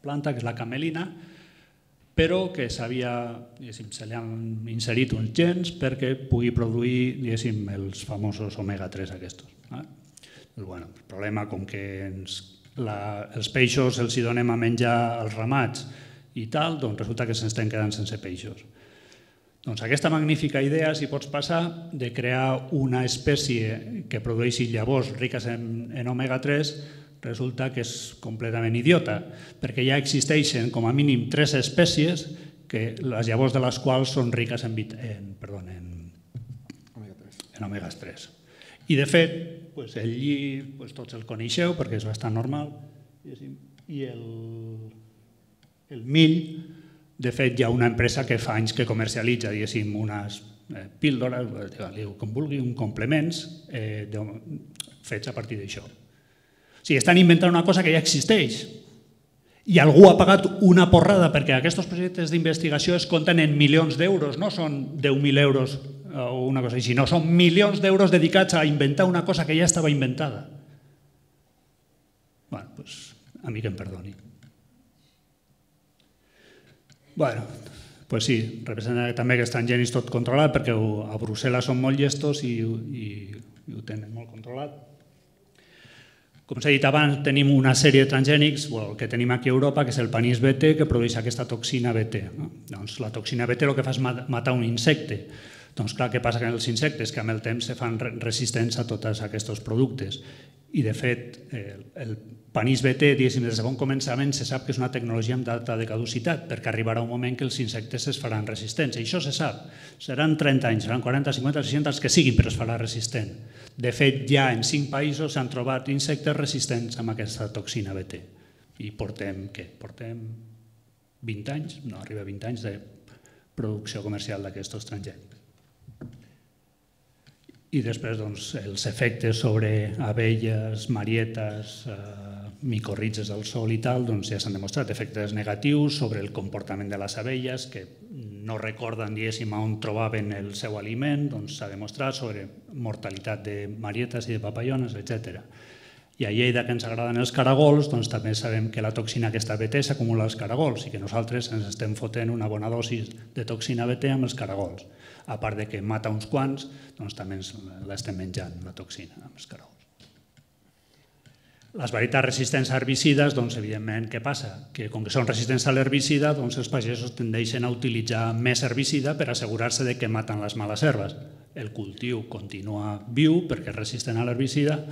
planta, que és la camelina, però que se li han inserit uns gens perquè pugui produir els famosos omega-3 aquests. El problema, com que els peixos els donem a menjar als ramats i tal, doncs resulta que se'ns estan quedant sense peixos. Doncs aquesta magnífica idea, si pots passar, de crear una espècie que produeixi llavors riques en omega-3, resulta que és completament idiota, perquè ja existeixen com a mínim 3 espècies que les llavors de les quals són riques en omega-3. I de fet, el lli tots el coneixeu perquè és bastant normal, i el mill, de fet hi ha una empresa que fa anys que comercialitza unes píldores, com vulgui, uns complements fets a partir d'això. O sigui, estan inventant una cosa que ja existeix i algú ha pagat una porrada perquè aquests projectes d'investigació es compten en milions d'euros, no són 10.000 euros o una cosa així, no, són milions d'euros dedicats a inventar una cosa que ja estava inventada. Bé, doncs a mi que em perdoni. Bé, doncs sí, representa també que estan gens tot controlat perquè a Brussel·les són molt llestos i ho tenen molt controlat. Com s'ha dit abans, tenim una sèrie de transgènics, el que tenim aquí a Europa, que és el panís BT, que produeix aquesta toxina BT. Doncs la toxina BT el que fa és matar un insecte. Doncs clar, què passa amb els insectes? Que amb el temps se fan resistents a tots aquests productes. I de fet, el panís BT, diguéssim, des de bon començament, se sap que és una tecnologia amb data de caducitat, perquè arribarà un moment que els insectes es faran resistents. I això se sap. Seran 30 anys, seran 40, 50, 60, els que siguin, però es farà resistent. De fet, ja en 5 països s'han trobat insectes resistents amb aquesta toxina BT. I portem 20 anys, no arriba a 20 anys de producció comercial d'aquests transgènics. I després els efectes sobre abelles, marietes, micorrizes del sol i tal, ja s'han demostrat efectes negatius sobre el comportament de les abelles que no recorden, diguéssim, on trobaven el seu aliment, s'ha demostrat sobre mortalitat de marietes i de papallones, etc. I a Lleida, que ens agraden els caragols, també sabem que la toxina aquesta BT s'acumula als caragols i que nosaltres ens estem fotent una bona dosi de toxina BT amb els caragols. A part de que mata uns quants, també l'estem menjant, la toxina, amb els caragols. Les varietats resistents a herbicides, evidentment, què passa? Que com que són resistents a l'herbicida, els pagesos tendeixen a utilitzar més herbicida per assegurar-se que maten les males herbes. El cultiu continua viu perquè és resistent a l'herbicida,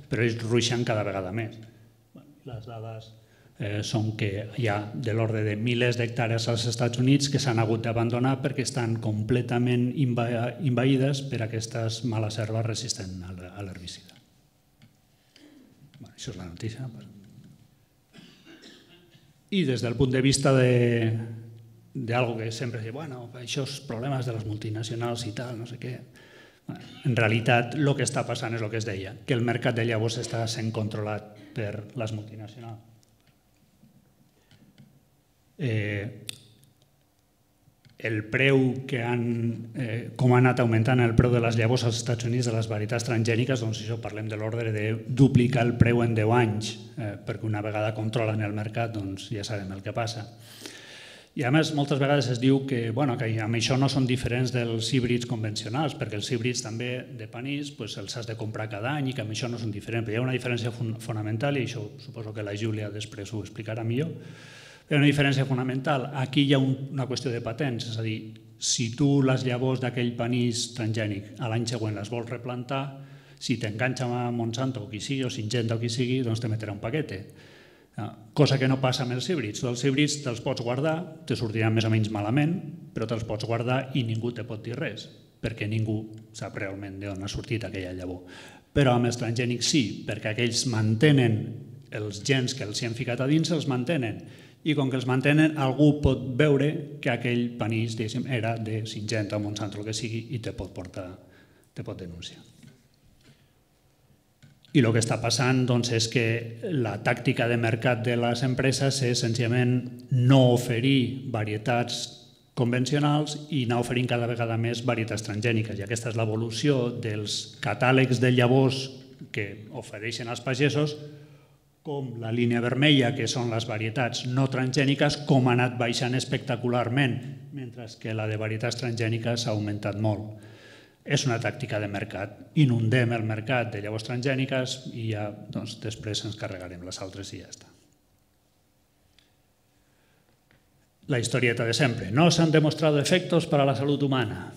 però ells ruixen cada vegada més. Les dades són que hi ha de l'ordre de milers d'hectàrees als Estats Units que s'han hagut d'abandonar perquè estan completament envaïdes per aquestes males herbes resistents a l'herbicida. Això és la notícia. I des del punt de vista d'algo que sempre diu, bueno, això és problemes de les multinacionals i tal, no sé què. En realitat, el que està passant és el que es deia, que el mercat de llavors està sent controlat per les multinacionals. El preu com ha anat augmentant el preu de les llavors als Estats Units de les varietats transgèniques, això parlem de l'ordre de duplicar el preu en 10 anys, perquè una vegada controlen el mercat ja sabem el que passa. I a més, moltes vegades es diu que amb això no són diferents dels híbrids convencionals, perquè els híbrids també de panís els has de comprar cada any i que amb això no són diferents. Però hi ha una diferència fonamental, i això suposo que la Júlia després ho explicarà millor. Hi ha una diferència fonamental. Aquí hi ha una qüestió de patents, és a dir, si tu les llavors d'aquell panís transgènic a l'any següent les vols replantar, si t'enganxa a Monsanto o qui sigui, o Syngenta o qui sigui, doncs te metrà un paquete. Cosa que no passa amb els híbrids. Els híbrids te'ls pots guardar, te sortiran més o menys malament, però te'ls pots guardar i ningú te pot dir res, perquè ningú sap realment d'on ha sortit aquella llavor. Però amb els transgènics sí, perquè aquells mantenen els gens que els hi han ficat a dins, els mantenen. I com que els mantenen, algú pot veure que aquell panís era de Syngenta o Monsanto, el que sigui, i te pot denunciar. I el que està passant és que la tàctica de mercat de les empreses és senzillament no oferir varietats convencionals i anar oferint cada vegada més varietats transgèniques. I aquesta és l'evolució dels catàlegs de llavors que ofereixen als pagesos, com la línia vermella, que són les varietats no transgèniques, com ha anat baixant espectacularment, mentre que la de varietats transgèniques ha augmentat molt. És una tàctica de mercat. Inundem el mercat de llavors transgèniques i ja després ens carregarem les altres i ja està. La historieta de sempre. No s'han demostrat efectos para la salut humana.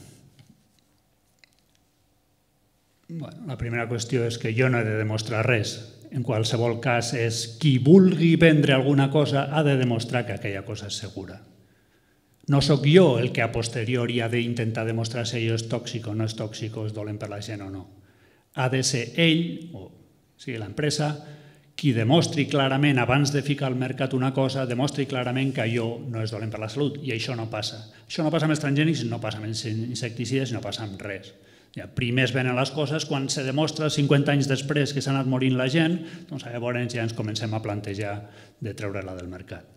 La primera qüestió és que jo no he de demostrar res. En qualsevol cas, és qui vulgui vendre alguna cosa ha de demostrar que aquella cosa és segura. No sóc jo el que a posteriori ha d'intentar demostrar si allò és tòxic o no és tòxic o és dolent per la gent o no. Ha de ser ell, o sigui l'empresa, qui demostri clarament, abans de ficar al mercat una cosa, demostri clarament que allò no és dolent per la salut. I això no passa. Això no passa amb els transgènics, no passa amb els insecticides, no passa amb res. Primer es venen les coses, quan se demostra 50 anys després que s'ha anat morint la gent, doncs llavors ja ens comencem a plantejar de treure-la del mercat.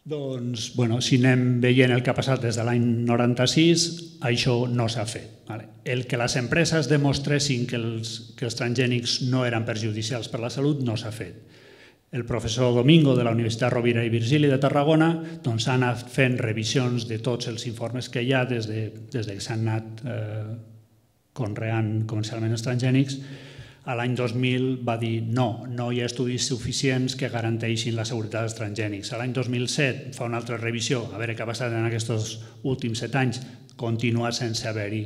Doncs, si anem veient el que ha passat des de l'any 96, això no s'ha fet. El que les empreses demostressin que els transgènics no eren perjudicials per la salut no s'ha fet. El professor Domingo de la Universitat Rovira i Virgili de Tarragona ha anat fent revisions de tots els informes que hi ha des que s'han anat conreant comercialment els transgènics. L'any 2000 va dir no hi ha estudis suficients que garanteixin la seguretat dels transgènics. L'any 2007 fa una altra revisió, a veure què ha passat en aquests últims 7 anys, continua sense haver-hi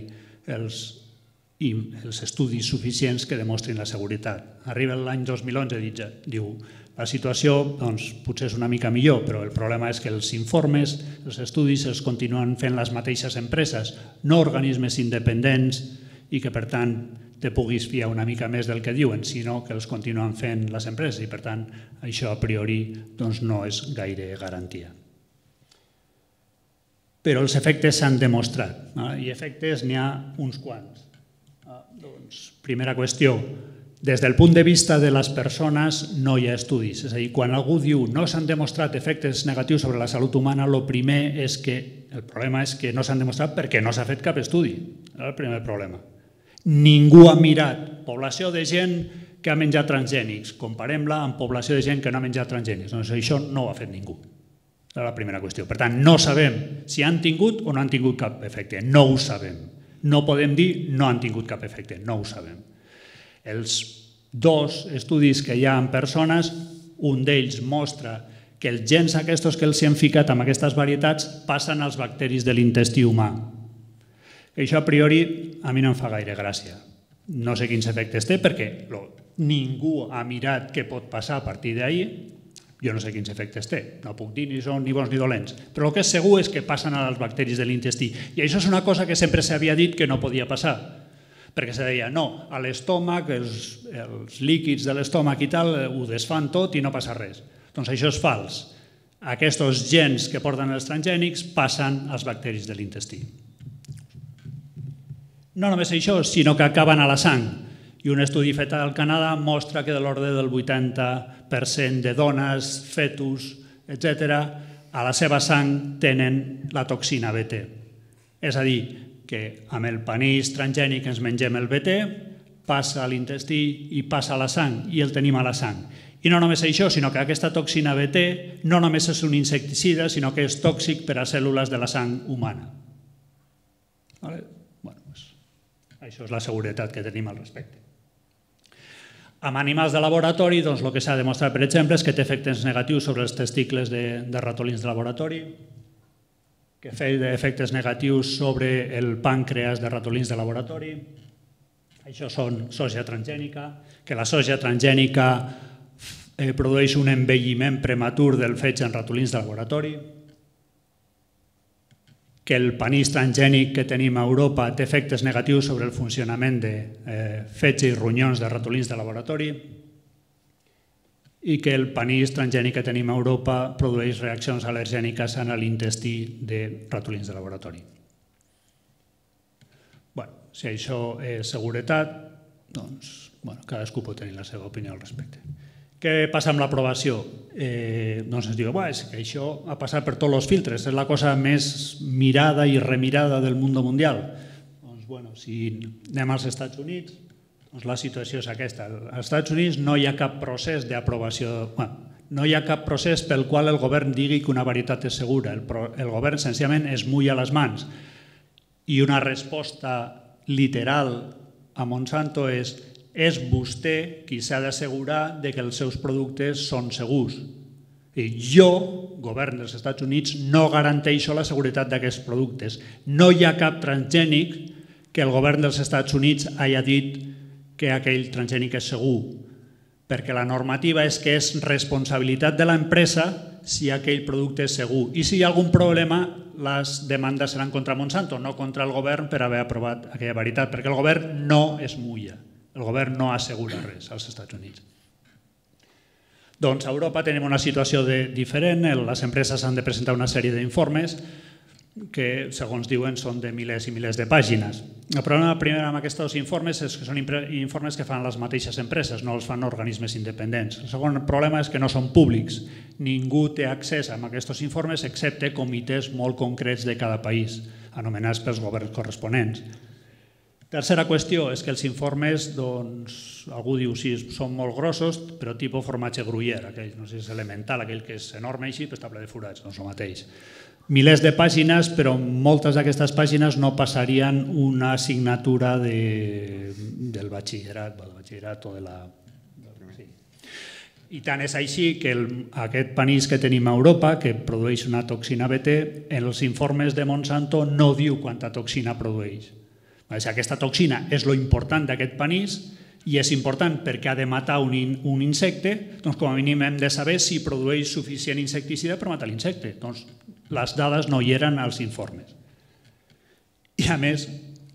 els estudis suficients que demostrin la seguretat. Arriba l'any 2011 i diu la situació potser és una mica millor, però el problema és que els informes, els estudis els continuen fent les mateixes empreses, no organismes independents i que per tant te puguis fiar una mica més del que diuen, sinó que els continuen fent les empreses i per tant això a priori no és gaire garantia. Però els efectes s'han demostrat i efectes n'hi ha uns quants. Primera qüestió, des del punt de vista de les persones no hi ha estudis. És a dir, quan algú diu no s'han demostrat efectes negatius sobre la salut humana, el primer és que el problema és que no s'han demostrat perquè no s'ha fet cap estudi. És el primer problema. Ningú ha mirat població de gent que ha menjat transgènics. Comparem-la amb població de gent que no ha menjat transgènics. Doncs això no ho ha fet ningú. És la primera qüestió. Per tant, no sabem si han tingut o no han tingut cap efecte. No ho sabem. No podem dir no han tingut cap efecte. No ho sabem. Els 2 estudis que hi ha en persones, un d'ells mostra que els gens aquests que els han ficat amb aquestes varietats passen als bacteris de l'intestí humà. Això a priori a mi no em fa gaire gràcia. No sé quins efectes té perquè ningú ha mirat què pot passar a partir d'ahir. Jo no sé quins efectes té. No puc dir ni són ni bons ni dolents. Però el que és segur és que passen als bacteris de l'intestí. I això és una cosa que sempre s'havia dit que no podia passar. Perquè se deia, no, a l'estómac, els líquids de l'estómac i tal, ho desfan tot i no passa res. Doncs això és fals. Aquests gens que porten els transgènics passen als bacteris de l'intestí. No només això, sinó que acaben a la sang. I un estudi fet al Canadà mostra que de l'ordre del 80% de dones, fetus, etc., a la seva sang tenen la toxina BT. És a dir, que amb el panís transgènic ens mengem el BT, passa a l'intestí i passa a la sang, i el tenim a la sang. I no només això, sinó que aquesta toxina BT no només és un insecticida, sinó que és tòxic per a cèl·lules de la sang humana. Això és la seguretat que tenim al respecte. Amb animals de laboratori, el que s'ha demostrat, per exemple, és que té efectes negatius sobre els testicles de ratolins de laboratori, que té efectes negatius sobre el pàncreas de ratolins de laboratori. Això són soja transgènica, que la soja transgènica produeix un envelliment prematur del fetge en ratolins de laboratori, que el panís transgènic que tenim a Europa té efectes negatius sobre el funcionament de fetge i ronyons de ratolins de laboratori i que el panís transgènic que tenim a Europa produeix reaccions al·lergèniques en l'intestí de ratolins de laboratori. Si això és seguretat, doncs cadascú pot tenir la seva opinió al respecte. Què passa amb l'aprovació? Doncs ens diu que això ha passat per tots els filtres, és la cosa més mirada i remirada del món mundial. Doncs si anem als Estats Units, la situació és aquesta. Als Estats Units no hi ha cap procés d'aprovació, no hi ha cap procés pel qual el govern digui que una varietat és segura. El govern senzillament es mulla les mans i una resposta literal a Monsanto és vostè qui s'ha d'assegurar que els seus productes són segurs. Jo, govern dels Estats Units, no garanteixo la seguretat d'aquests productes. No hi ha cap transgènic que el govern dels Estats Units hagi dit que aquell transgènic és segur, perquè la normativa és que és responsabilitat de l'empresa si aquell producte és segur. I si hi ha algun problema, les demandes seran contra Monsanto, no contra el govern per haver aprovat aquella varietat, perquè el govern no es mulla, el govern no assegura res als Estats Units. Doncs a Europa tenim una situació diferent, les empreses han de presentar una sèrie d'informes que, segons diuen, són de milers i milers de pàgines. El problema primer amb aquests informes és que són informes que fan les mateixes empreses, no els fan organismes independents. El segon problema és que no són públics. Ningú té accés a aquests informes excepte comitès molt concrets de cada país, anomenats pels governs corresponents. Tercera qüestió és que els informes, doncs, algú diu, sí, són molt grossos, però tipus formatge gruyère, aquell, no sé si és elemental, aquell que és enorme així, però està ple de forats, doncs el mateix. Milers de pàgines, però moltes d'aquestes pàgines no passarien una assignatura del batxillerat o de la... I tant és així que aquest panís que tenim a Europa, que produeix una toxina BT, en els informes de Monsanto no diu quanta toxina produeix. Aquesta toxina és lo important d'aquest panís i és important perquè ha de matar un insecte, doncs com a mínim hem de saber si produeix suficient insecticida per matar l'insecte. Doncs les dades no hi eren als informes. I a més,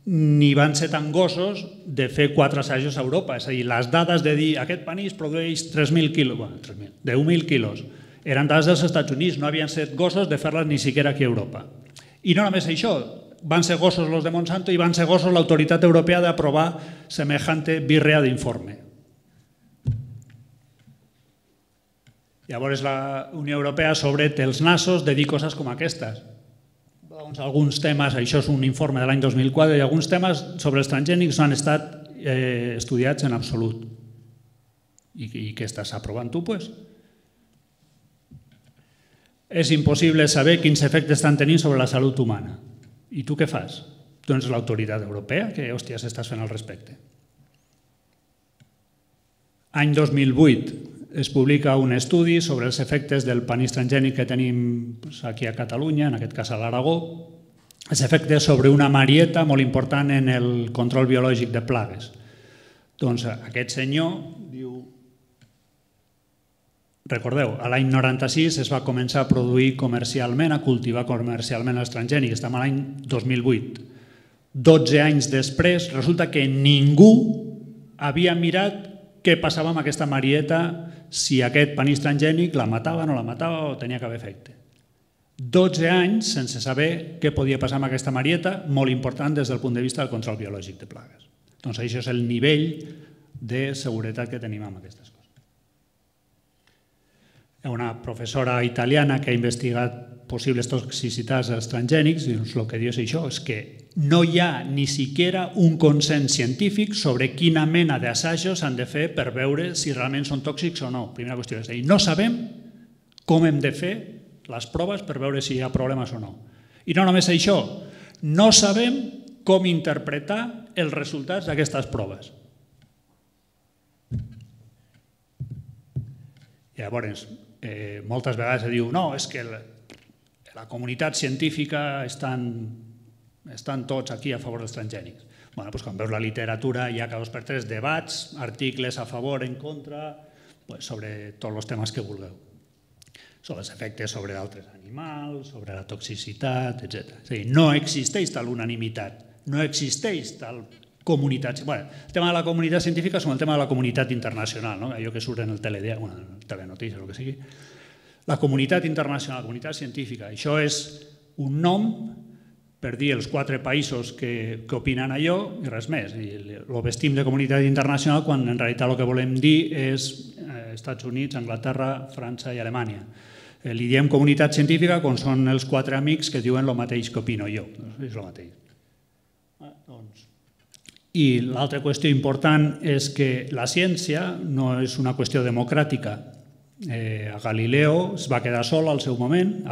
ni van ser tan gossos de fer 4 assajos a Europa. És a dir, les dades de dir aquest panís produeix 3.000 quilos, 10.000 quilos, eren dades dels Estats Units, no havien set gossos de fer-les ni siquiera aquí a Europa. I no només això, van ser gossos els de Monsanto i van ser gossos l'autoritat europea d'aprovar semejante birria d'informe. Llavors la Unió Europea sobre els nassos de dir coses com aquestes. Alguns temes, això és un informe de l'any 2004, i alguns temes sobre els transgènics no han estat estudiats en absolut. I què estàs aprovant tu, doncs? És impossible saber quins efectes estan tenint sobre la salut humana. I tu què fas? Doncs l'autoritat europea, què hòsties estàs fent al respecte? Any 2008 es publica un estudi sobre els efectes del panís transgènic que tenim aquí a Catalunya, en aquest cas a l'Aragó, els efectes sobre una marieta molt important en el control biològic de plagues. Doncs aquest senyor diu... Recordeu, a l'any 96 es va començar a produir comercialment, a cultivar comercialment els transgènics, estem a l'any 2008. 12 anys després, resulta que ningú havia mirat què passava amb aquesta marieta, si aquest panís transgènic la matava, no la matava o tenia cap efecte. 12 anys sense saber què podia passar amb aquesta marieta, molt important des del punt de vista del control biològic de plagues. Doncs això és el nivell de seguretat que tenim amb aquestes coses. Hi ha una professora italiana que ha investigat possibles toxicitats als transgènics i el que diu és això, és que no hi ha ni siquiera un consens científic sobre quina mena d'assajos s'han de fer per veure si realment són tòxics o no. Primera qüestió, és a dir, no sabem com hem de fer les proves per veure si hi ha problemes o no. I no només això, no sabem com interpretar els resultats d'aquestes proves. Llavors, moltes vegades es diu no, és que la comunitat científica estan tots aquí a favor dels transgènics. Doncs quan veus la literatura hi ha cada 2 per 3 debats, articles a favor, en contra, sobre tots els temes que vulgueu. sobre els efectes sobre altres animals, sobre la toxicitat, etc. És a dir, no existeix tal unanimitat, no existeix tal comunitat. Bueno, el tema de la comunitat científica és com el tema de la comunitat internacional, no? Allò que surt en el telenotícies o el que sigui. La comunitat internacional, la comunitat científica, això és un nom per dir els 4 països que opinen allò i res més. Ho vestim de comunitat internacional quan en realitat el que volem dir és Estats Units, Anglaterra, França i Alemanya. Li diem comunitat científica quan són els 4 amics que diuen el mateix que opino jo. És el mateix. I l'altra qüestió important és que la ciència no és una qüestió democràtica. A Galileo es va quedar sol al seu moment,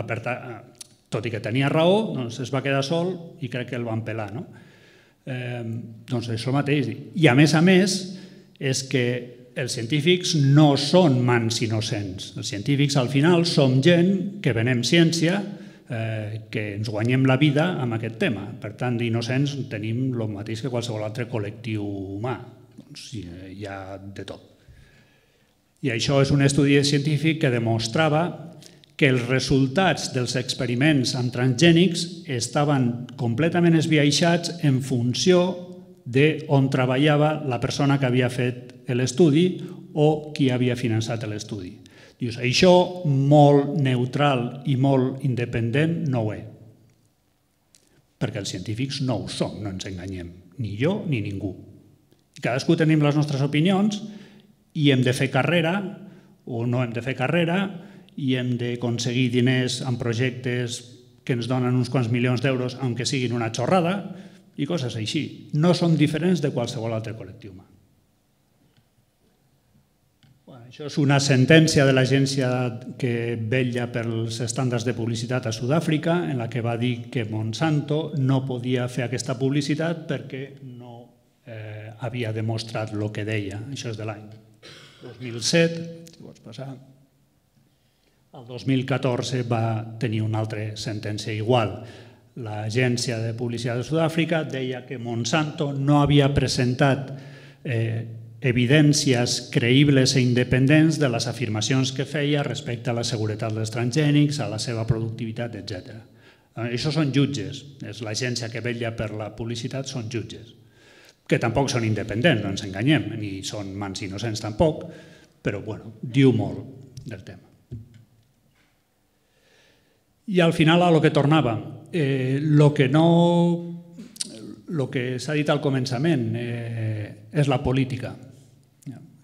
tot i que tenia raó, es va quedar sol i crec que el van pelar. Doncs això mateix. I a més, és que els científics no són mans innocents. Els científics al final som gent que venem ciència, que ens guanyem la vida amb aquest tema. Per tant, d'innocents tenim el mateix que qualsevol altre col·lectiu humà. Hi ha de tot. I això és un estudi científic que demostrava que els resultats dels experiments amb transgènics estaven completament esbiaixats en funció d'on treballava la persona que havia fet l'estudi o qui havia finançat l'estudi. Dius, això molt neutral i molt independent no ho és. Perquè els científics no ho som, no ens enganyem, ni jo ni ningú. Cadascú tenim les nostres opinions i hem de fer carrera o no hem de fer carrera i hem d'aconseguir diners en projectes que ens donen uns quants milions d'euros, aunque siguin una xorrada, i coses així. No som diferents de qualsevol altre col·lectiu humà. Això és una sentència de l'agència que vetlla pels estàndards de publicitat a Sud-àfrica, en la que va dir que Monsanto no podia fer aquesta publicitat perquè no havia demostrat el que deia. Això és de l'any 2007, si vols passar. El 2014 va tenir una altra sentència igual. L'agència de publicitat de Sud-àfrica deia que Monsanto no havia presentat evidències creïbles i independents de les afirmacions que feia respecte a la seguretat dels transgènics, a la seva productivitat, etc. Això són jutges. És l'agència que vetlla per la publicitat, són jutges. Que tampoc són independents, no ens enganyem, ni són mans innocents tampoc, però diu molt del tema. I al final a lo que tornava, el que s'ha dit al començament és la política.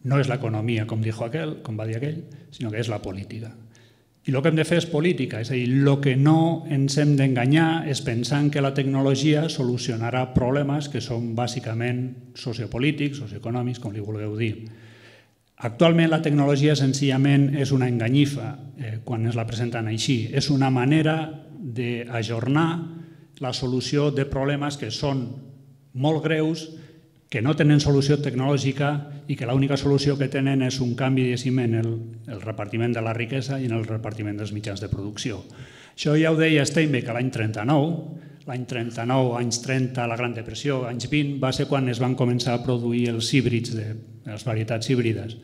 No és l'economia, com va dir aquell, sinó que és la política. I el que hem de fer és política, és a dir, el que no ens hem d'enganyar és pensant que la tecnologia solucionarà problemes que són bàsicament sociopolítics, socioeconòmics, com li vulgueu dir. Actualment la tecnologia senzillament és una enganyifa quan ens la presenten així. És una manera d'ajornar la solució de problemes que són molt greus, que no tenen solució tecnològica i que l'única solució que tenen és un canvi en el repartiment de la riquesa i en el repartiment dels mitjans de producció. Això ja ho deia Steinbeck l'any 39. L'any 39, anys 30, la Gran Depressió, anys 20, va ser quan es van començar a produir els híbrids, les varietats híbrides.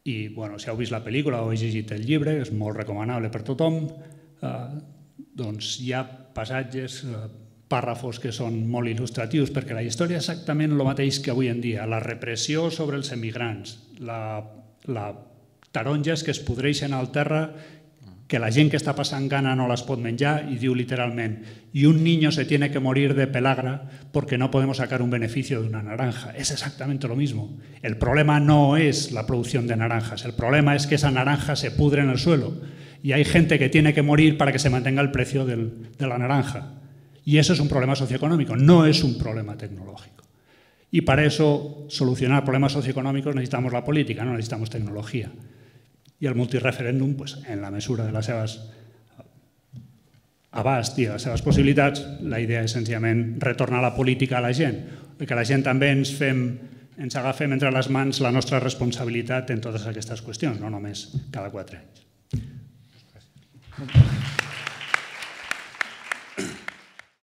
I, si heu vist la pel·lícula o heu llegit el llibre, és molt recomanable per tothom, doncs hi ha passatges, pàrrafos que són molt il·lustratius, perquè la història és exactament el mateix que avui en dia. La repressió sobre els emigrants, les taronges que es podreixen al terra, que la gent que està passant gana no les pot menjar, y diu literalment, y un niño se tiene que morir de pelagra porque no podemos sacar un beneficio de una naranja. Es exactamente lo mismo. El problema no es la producción de naranjas, el problema es que esa naranja se pudre en el suelo y hay gente que tiene que morir para que se mantenga el precio de la naranja. Y eso es un problema socioeconómico, no es un problema tecnológico. Y para eso, solucionar problemas socioeconòmics necesitamos la política, no necesitamos tecnología. I el multireferèndum, en la mesura de les seves abast i les seves possibilitats, la idea és senzillament retornar la política a la gent, que la gent també ens agafem entre les mans la nostra responsabilitat en totes aquestes qüestions, no només cada 4 anys.